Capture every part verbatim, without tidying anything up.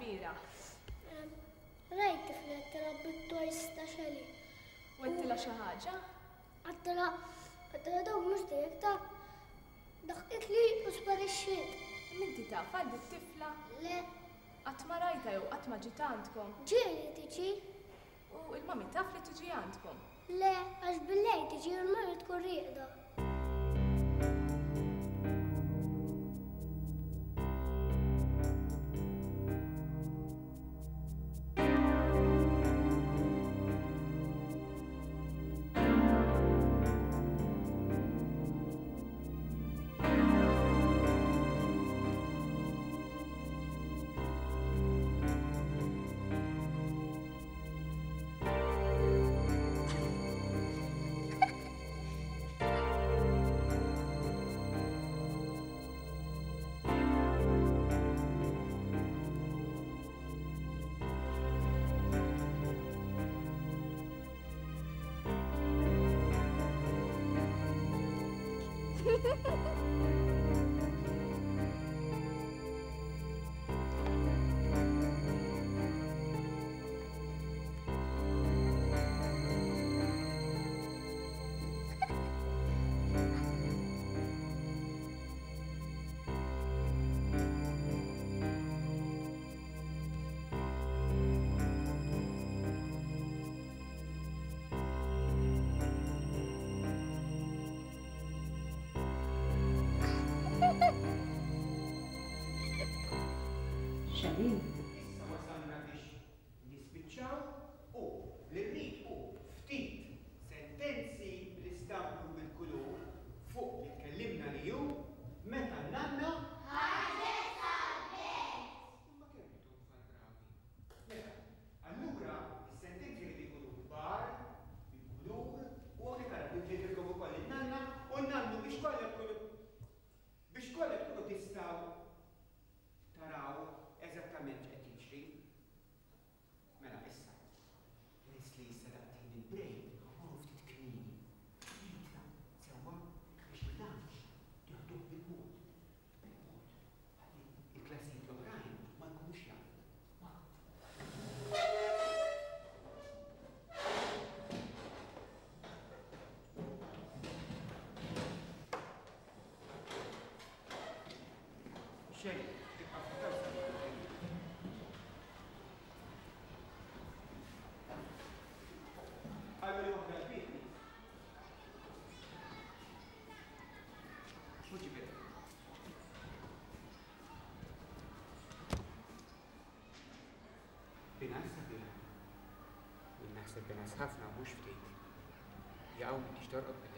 l-bieraħ? Rajt tifla tilgħab bit-toys ta' Shelly. U għedtilha xi ħaġa? Għedtilha, għedtilha dawk mhux tiegħek ta' daħqitli u sparixxiet. Minti taf għal tifla? Le. Qatt ma rajta jew qatt ma ġiet għandkom? Ġieli tiġi. U il-mami taf li tiġi għandkom? Le, għax bil-lejl tiġi u l-mami tkun rieqda. Shelly. Issa wasalna biex nispiċċaw u li rrid hu ftit sentenzi bl-istampu bil-kulur fuq li tkellimna li hu meta n-nanna ħarġet sal-belt. Imma kemm intom tfal bravi. Mela, allura is-sentenzi jridu jkunu kbar, bil-kulur, u hawnhekk ara nġibilkom ukoll in-nanna u n-nannu biex kollha tkunu biex kollha tkunu tistgħu taraw eżattament x'qed jiġri. Mela issa, peress li issa daqtejn il-break, ħa ftit kmieni. Nitla' sewwa biex il-lunch tieħduh bil-mod. Bil-mod. Ħalli il-klassijiet l-oħrajn ma jkunux jafu. Ma. Xejn, tibqa' ftit Għallu waħda l-bit. X'hu ġifieri? Binas sabiħa. Jien naħseb binas ħafna u mhux ftit. Jaqgħu m'intix torqod bil-lejl.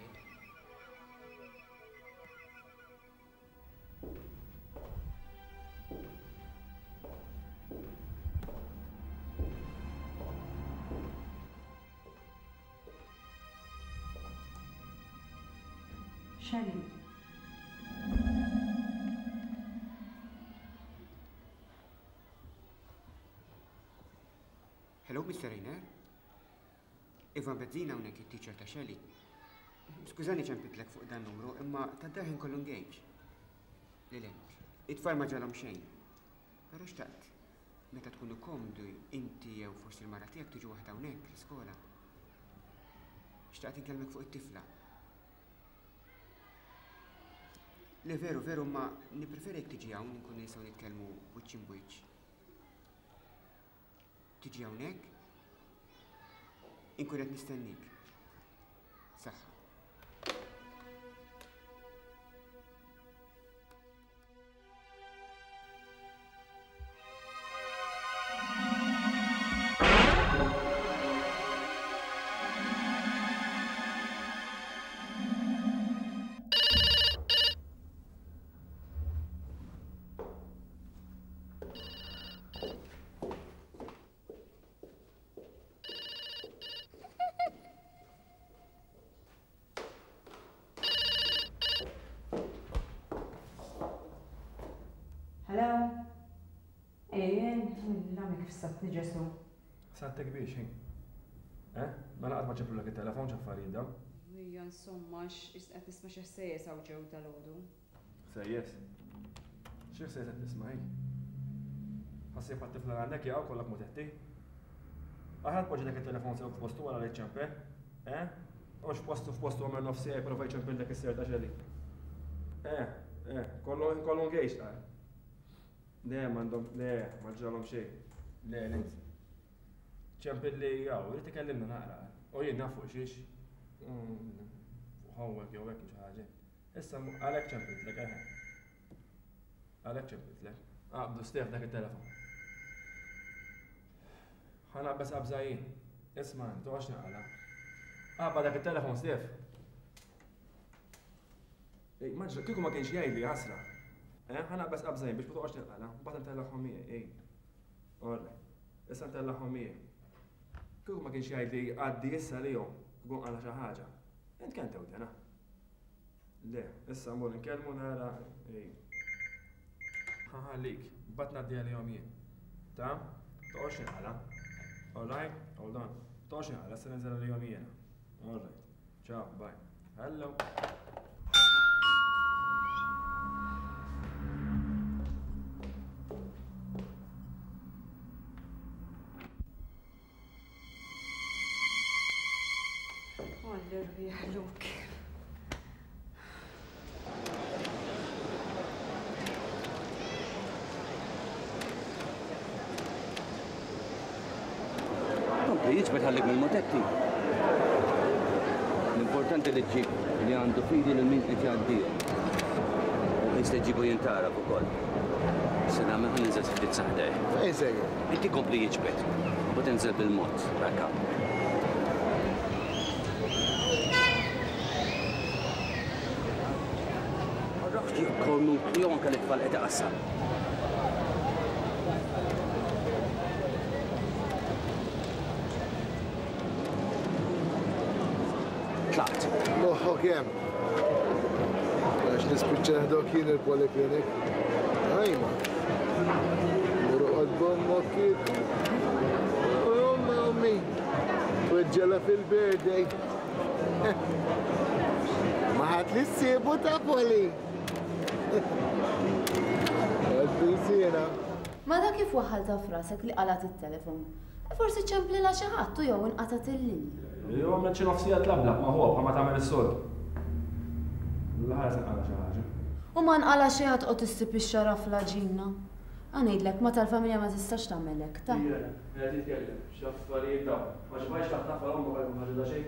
Shelly. Hello, Mister Rainer. Ivan Bezzina hawnhekk it-teacher ta' Shelly. Skużani ċempitlek fuq dan numru, imma ta' darħin kollu engage. Le, le, it-tfal ma ġalhom xejn. Però xtaqt, meta tkunu komdu inti jew forsi l-mara tiegħek tiġu waħda hawnhekk l-iskola. Xtaqt inkellmek fuq it-tifla. Le veru, veru, ma nippreferi jekk tiġi hawn nkunu nistgħu nitkellmu wiċċ imbwiċċ. Tiġi hawnhekk? Inkun qed nistennik. Saħħa. Hello? Ejjen, l-għamil kif satni Ġesu. Sattek biex, hi. Eh? Mela qatt ma ċemplulek it-telefon x'affarijiet dawn? Ejja, insomma, qed nisma' xi ħsejjes hawn ġew dalgħodu. Ħsejjes? Xi ħsejjes qed tisma' hi? Ħassib għat-tifla għandek jaqgħu kollok mutetti. Aħjar poġġi dak it-telefon sew f'postu wara li ċċempel. Eh? Mhux f'postu f'postu għamel nofs siegħa jipprova jċempillek is-ser ta' xeli. Eh, eh, kollu kollu engaged qal. Le, m'għandhom, le, ma ġralhom xejn. Le, le. Ċempilli jaw, irid ikellimna naqra. U jien naf fuq xiex. Fuq homework jew hekk xi ħaġa. Issa għalhekk ċempiltlek, eħe. Għalhekk ċempiltlek. Aqbdu Stef dak it-telefon. Ħa naqbeż qabża jien. Isma' toqgħodx naqala. Aqba dak it-telefon Stef. Ej, ma ġra, kieku ma kienx jgħidli ħasra. Eh, ħa naqbeż qabża jien biex ma toqgħodx tinqala. Mbagħad ntellagħhom miegħi, ej. Orre. Issa ntellagħhom miegħi. Kieku ma kienx jgħidli għaddi issa lihom, kieku nqala xi ħaġa. Int kemm tewdena? Le, issa mmur inkellmu nara, ej. Ħallik, mbagħad ngħaddi għalihom jien. Ta? Toqgħodx tinqala. All right, hold on. Toqgħodx tinqala, issa ninżel għalihom jiena. All right. Ciao, bye. Hello. L-irwieħ Luke. Kompli, jiġbed ħallik mill-motetti. L-importanti li ġib li għandu fidi lil min qed jgħaddihom. U jista' jġibu jintaraf ukoll. Se nagħmel ħa ninżel ftit saħdej. Fejn sejjer? Inti kompli jiġbed. U tinżel bil-mod, rakka. Kornu jew anke l-itfal qed iqassam. Tlaqt. Moħħok hemm. Għax nispiċċa ħdok jien il-poliklinik. Ajma. Muru qod kieku. Omma ommi. Tweġġela fil-birthday. Ma ħadd li ssibu ta' poli. Għal-pinsina. Ma dak kif waħħalta f'rasek li qalat it-telefon. Forsi ċemplilha xi ħadd u jew inqatgħet il-linja. Jew għamlet xi nofsija tlablab ma' ħuha bħal ma tagħmel is-soltu. L-aħħar se nqala xi ħaġa. U ma nqala xi ħadd qod issib ix-xara fl-għaġina. Ħa ngħidlek ma tal-familja ma tistax tagħmel hekk, ta'. Qed jitkellem, x'affarijiet dawn. Ma xbajx taħtaf għal ommok għal ħaġa da xejn.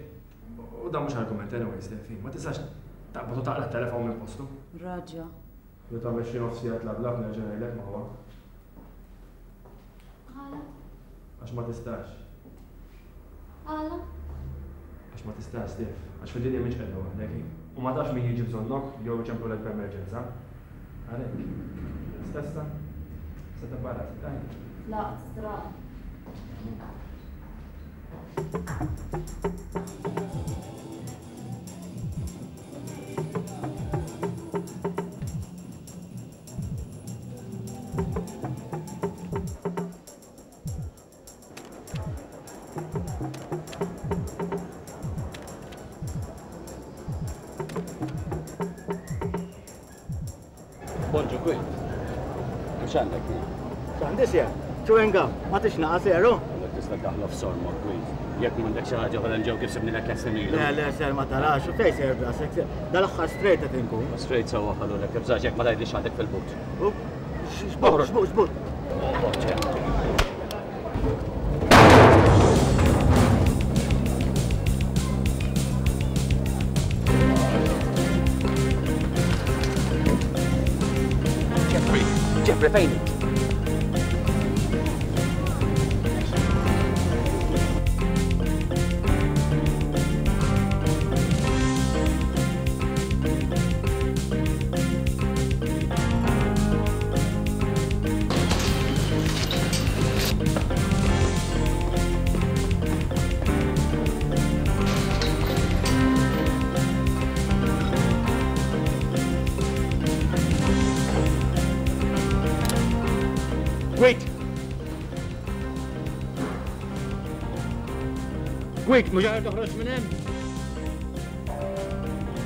U dan mhux argument anyway, Stefi. Ma tistax taqbad u taqla' t-telefon minn postu. Raġa. Li tagħmel xi nofsija tlablab nerġa' ngħidlek ma huwa. Għala? Għax ma tistax. Għala? Għax ma tistax, Stef. Għax fid-dinja mhix qiegħda waħdek hi. U ma tafx min jiġi bżonnok jew iċemplulek b'emerġenza. Għalhekk. Stessa. Se tibbarra, daj. Tlaqt, stra. Bonġu, kwint. Mux għandek jien? X'għandi sjer? Chewing gum, ma tixnaqa seru? Għandek tista' daħla f'sormok, kwint. Jekk m'għandek xi ħaġa oħra nġew kif sibnilek l-estimilu. Le, le, ser ma tarax, u fejn ser brasek, ser. Dal-aħħar straight qed inkun. Straight sewwa ħallulek, tibżax jekk ma tgħidlix għandek fil-but. U, xbut, xbut, xbut. Jeffrey, Jeffrey, fejn? Wait! Wait, mhux għar toħroġ minn hemm?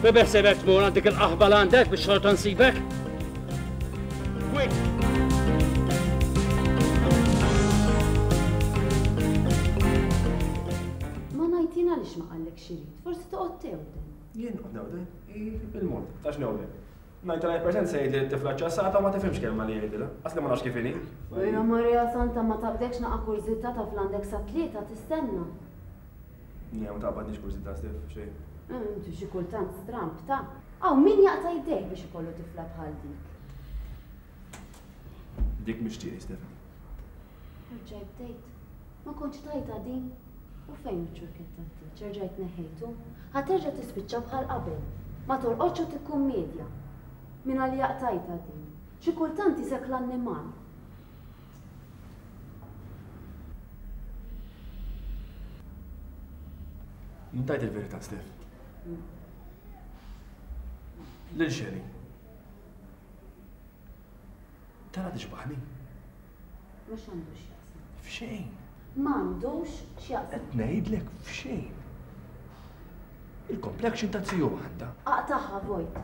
Bebe sebek tmur għandek il-qaħba l għandek biex xorta nsibek? Wait! Ngħid jien għaliex ma qallek x'irid, forsi toqgħod tewden. Jien noqgħod newden? Bil-mod, tax newden. ninety nine percent se jgħidli t-tifla ċassata u ma tifhimx kelma li jgħidilha. Asli ma nafx kif inhi. Ejja Maria Santa ma taqbdekx naqa' kurżità taf l-għandek sa tlieta tistenna. Le, ma taqbadniex kurżità Stef, xejn. Inti xi kultant stramb ta'. Aw min jaqta' jdejh biex ikollu tifla bħal dik. Dik mhix tiegħi, Stefani. Erġajt bdejt. Ma kontx tajta din. U fejn iċ-ċurkett tat-tieġ? Erġajt neħejtu. Ħa terġa' tispiċċa bħal qabel. Ma torqodx u tikkummedja. Min għalija qtajta din. Xi kultant isek l-annimal. Ntajt il-verità, Stef. Lil Sherry. Tara tixbaħni. Mhux għandu x'jaqsam. F'xejn. M'għandux x'jaqsam. Qed ngħidlek f'xejn. Il-complexion ta' ziju għandha. Aqtaħħa vojt.